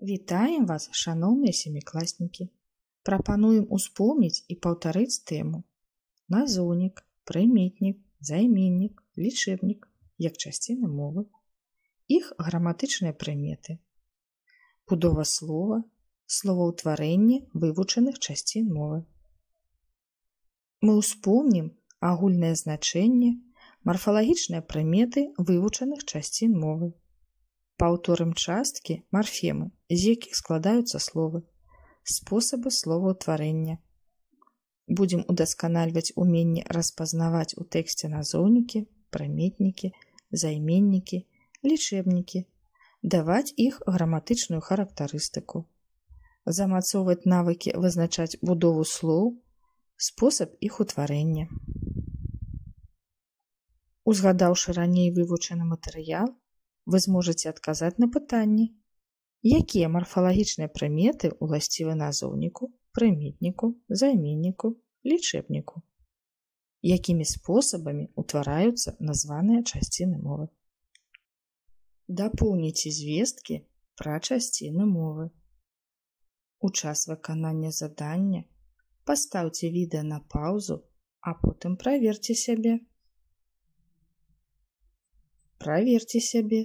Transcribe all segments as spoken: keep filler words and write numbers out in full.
Вітаем вас, шаноўныя сямікласнікі! Прапануем успомніць і паўтарыць тэму назоўнік, прыметнік, займеннік, лічэбнік як часціны мовы, іх граматычныя прыметы, будова слова, словаўтварэнне вывучаных часцін мовы. Мы ўспомнім агульнае значэнне, марфалагічныя прыметы вывучаных часцін мовы. Паўторым часткі, марфемы, з якіх складаюцца словы, спосабы словаўтварэння. Будзем удасканальваць уменне распазнаваць у тэксце назоўнікі, прыметнікі, займеннікі, лічэбнікі, даваць іх граматычную характарыстыку, замацоўваць навыкі вызначаць будову слоў, спосаб іх утварэння. Узгадаўшы раней вывучаны матэрыял, вы зможаце адказаць на пытанні, якія марфалагічныя прыметы ўласцівы назоўніку, прыметніку, займенніку, лічэбніку, якімі спосабамі ўтвараюцца названыя часціны мовы. Дапоўніце звесткі пра часціны мовы. У час выканання задання пастаўце відэа на паўзу, а потым праверце сябе. Праверце сябе.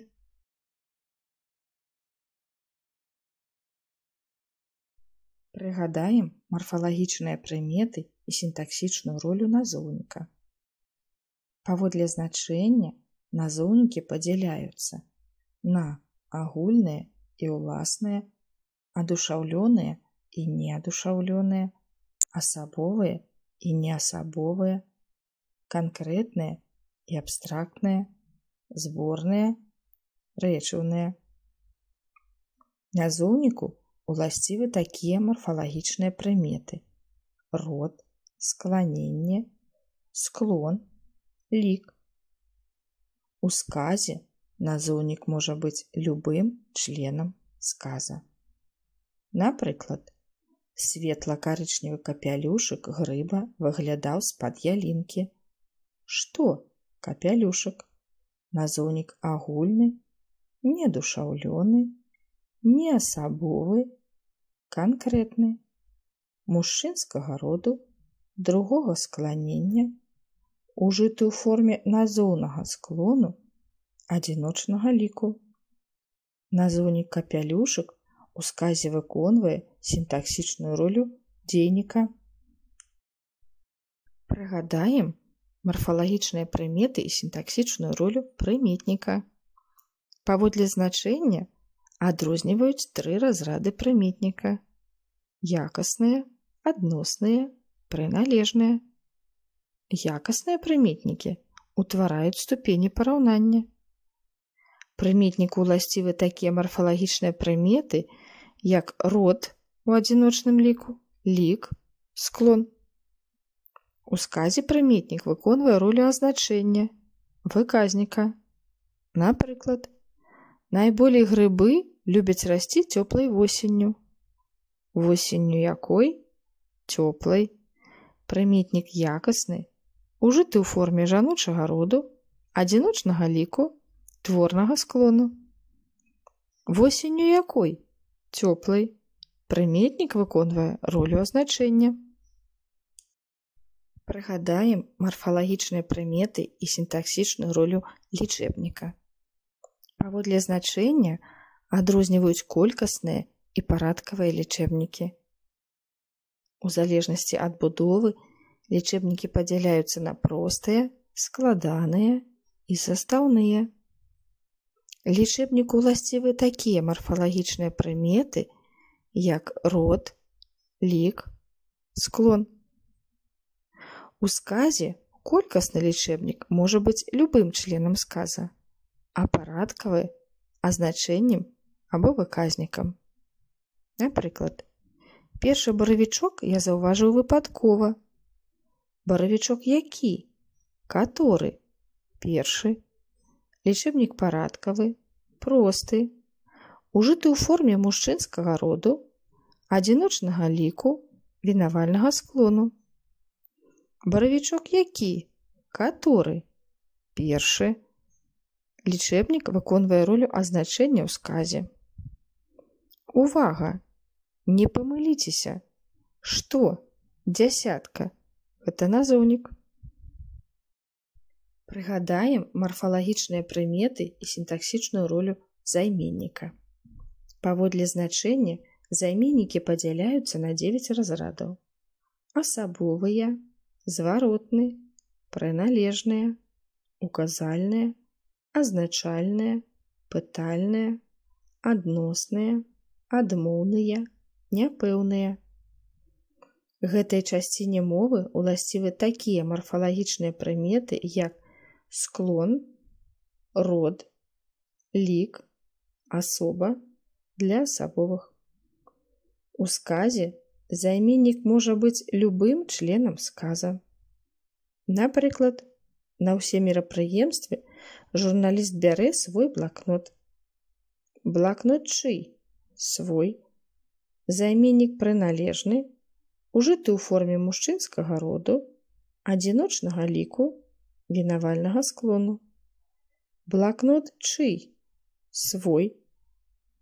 Прыгадаем марфалагічныя прыметы і сінтаксічную ролю назоўніка. Паводле значэння назоўнікі падзяляюцца на агульныя і ўласныя, адушаўлёныя і неадушаўлёныя, асабовыя і неасабовыя, канкрэтныя і абстрактныя, зборныя, рэчыўныя. Назоўніку уласцівы такія марфалагічныя прыметы: род, скланенне, склон, лік. У сказе назоўнік можа быць любым членам сказа. Напрыклад, светла-карычневы капялюшык грыба выглядаў з-пад ялінкі. Што капялюшык? Назоўнік агульны, неадушаўлёны, неасабовы, канкрэтны, мужчынскага роду, другога скланення, ужыты ў форме назоўнага склону, адзіночнага ліку. Назоўнік капялюшык у сказе выконвае сінтаксічную ролю дзейніка. Прыгадаем марфалагічныя прыметы і сінтаксічную ролю прыметніка. Паводле значэння адрозніваюць тры разрады прыметніка: якасныя, адносныя, прыналежныя. Якасныя прыметнікі ўтвараюць ступені параўнання. Прыметніку ўласцівы такія марфалагічныя прыметы, як род у адзіночным ліку, лік, склон. У сказе прыметнік выконвае ролю азначэння, выказніка. Напрыклад, найболей грыбы любяць расці цёплай восенню. Восенню якой? Цёплай. Прыметнік якасны, ужыты ў форме жаночага роду, адзіночнага ліку, творнага склону. Восенню якой? Цёплай. Прыметнік выконвае ролю азначэння. Прыгадаем марфалагічныя прыметы і сінтаксічную ролю лічэбніка. Паводле значэння адрозніваюць колькасныя і парадкавыя лічэбнікі. У залежнасці ад будовы лічэбнікі падзяляюцца на простыя, складаныя і састаўныя. Лічэбніку ўласцівы такія марфалагічныя прыметы, як род, лік, склон. У сказе колькасны лічэбнік можа быць любым членам сказа, а парадкавы азначэннем або выказнікам. Напрыклад, першы баравічок я заўважыў выпадкова. Баравічок які? Каторы? Першы. Лічэбнік парадкавы, просты, ужыты ў форме мужчынскага роду, адзіночнага ліку, вінавальнага склону. Баравічок які? Каторы? Першы. Лічэбнік выконвае ролю азначэння ў сказе. Увага! Не памыліцеся! Што? Дзясятка. Гэта назоўнік. Прыгадаем марфалагічныя прыметы і сінтаксічную ролю займенніка. Паводле значэння займеннікі падзяляюцца на дзевяць разрадаў. Асабовыя, зваротны, прыналежныя, указальныя, азначальныя, пытальныя, адносныя, адмоўныя, няпэўныя. Гэтай часціне мовы ўласцівы такія марфалагічныя прыметы, як склон, род, лік, асоба для асабовых. У сказе займеннік можа быць любым членам сказа. Напрыклад, на ўсе мерапрыемствы журналіст бярэ свой блакнот. Блакнот чый? Свой. Займеннік прыналежны, ужыты ў форме мужчынскага роду, адзіночнага ліку, вінавальнага склону. Блакнот чый? Свой.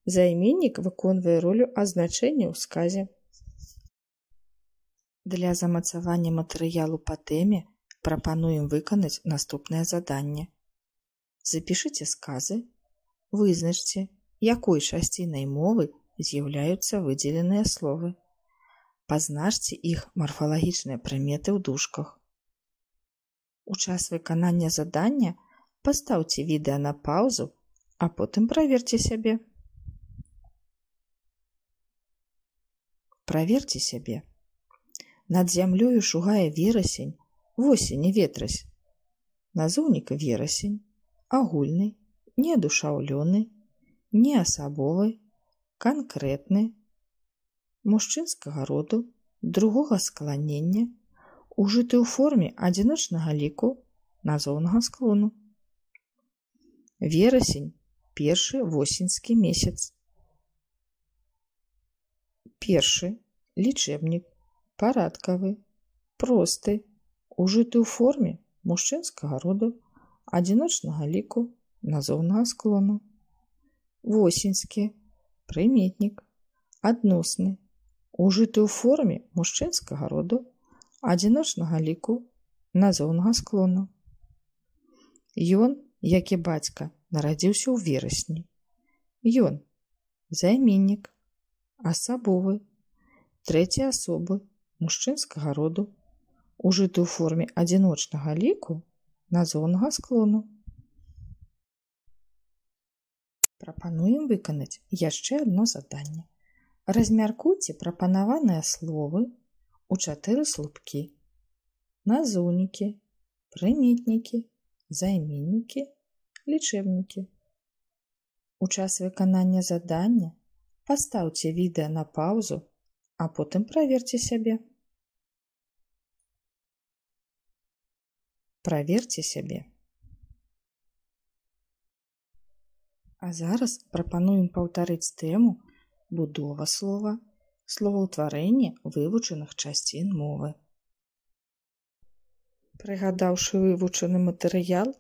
Займеннік выконвае ролю азначэння ў сказе. Для замацавання матэрыялу па тэме прапануем выканаць наступнае заданне. Запішыце сказы, вызначце, якой часцінай мовы з'яўляюцца выдзеленыя словы. Пазначце іх марфалагічныя прыметы ў дужках. У час выканання задання пастаўце відэа на паўзу, а потым праверце сябе. Праверце сябе. Над зямлёю шугае верасень, восень і ветразь. Назоўнік верасень, агульны, неадушаўлёны, неасабовы, канкрэтны, мужчынскага роду, другога скланення, ужыты ў форме адзіночнага ліку, назоўнага склону. Верасень – першы восеньскі месяц. Першы – лічэбнік, парадкавы, просты, ужыты ў форме мужчынскага роду, адзіночнага ліку, назоўнага склону. Восеньскі – прыметнік, адносны, ужыты ў форме мужчынскага роду, адзіночнага ліку, назоўнага склону. Ён, як і бацька, нарадзіўся ў верасні. Ён – займеннік, асабовы, трэцяй асобы, мужчынскага роду, ужыты ў форме адзіночнага ліку, назоўнага склону. Прапануем выканаць яшчэ адно заданне. Размяркуйце прапанаваныя словы ў чатыры слупкі: назоўнікі, прыметнікі, займеннікі, лічэбнікі. У час выканання задання пастаўце відэа на паўзу, а потым праверце сябе. Праверце сябе. А зараз прапануем паўтарыць тэму будова слова, словаўтварэнне вывучаных часцін мовы. Прыгадаўшы вывучаны матэрыял,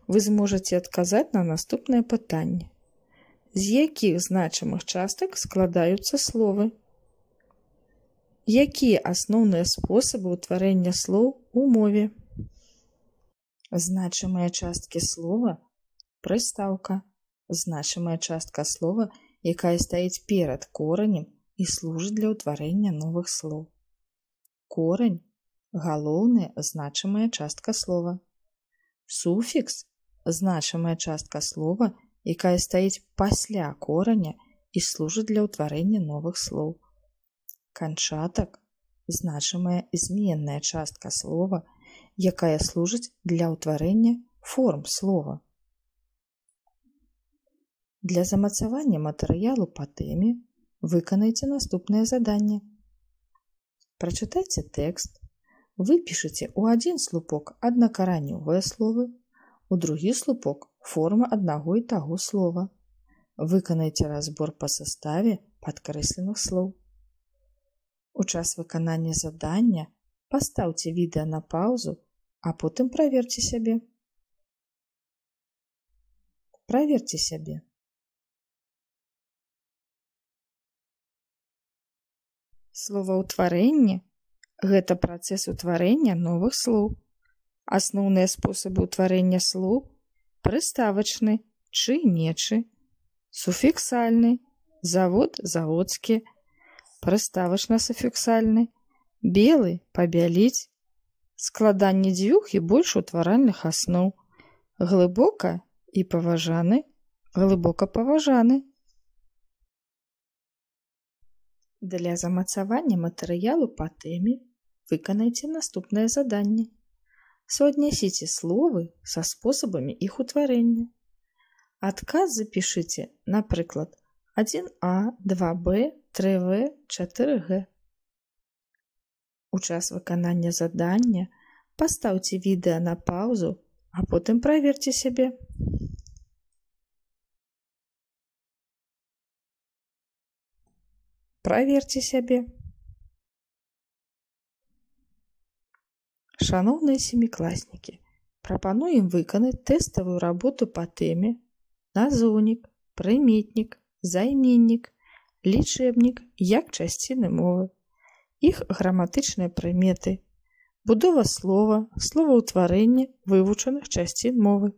вы зможаце адказаць на наступнае пытанне. З якіх значымых частак складаюцца словы? Якія асноўныя спосабы ўтварэння слоў у мове? Значымыя часткі слова – прыстаўка. Значымая частка слова, якая стаіць перад коранем і служыць для ўтварэння новых слоў. Корань – галоўная значымая частка слова. Суфікс – значымая частка слова, якая стаіць пасля кораня і служыць для ўтварэння новых слоў. Канчатак – значымая зменная частка слова, якая служыць для ўтварэння форм слова. Для замацавання матэрыялу па тэме выканайце наступнае заданне. Прачытайце тэкст, выпішыце ў адзін слупок аднакаранёвыя словы, у другі слупок форма аднаго і таго слова. Выканайце разбор па саставе падкрэсленых слоў. У час выканання задання пастаўце відэа на паўзу, а потым праверце сябе. Праверце сябе. Словаўтварэнне – гэта працэс утварэння новых слоў. Асноўныя спосабы ўтварэння слоў – прыставачны, чый-нечы, суфіксальны, завод, заводскі, прыставачна-суфіксальны, белы, пабяліць, складанне дзвюх і больш утваральных асноў, глыбока і паважаны, глыбока паважаны. Для замацавання матэрыялу па тэме выканайце наступнае заданне. Суаднясіце словы са спосабамі іх утварэння. Адказ запішыце, напрыклад, адзін а, два бэ, тры вэ, чатыры гэ. У час выканання задання пастаўце відэа на паўзу, а потым праверце сябе. Праверце сябе. Шаноўныя семікласнікі, прапануем выканаць тэставую работу па тэме назоўнік, прыметнік, займеннік, лічэбнік як часціны мовы, іх граматычныя прыметы, будова слова, словаўтварэнне вывучаных часцін мовы.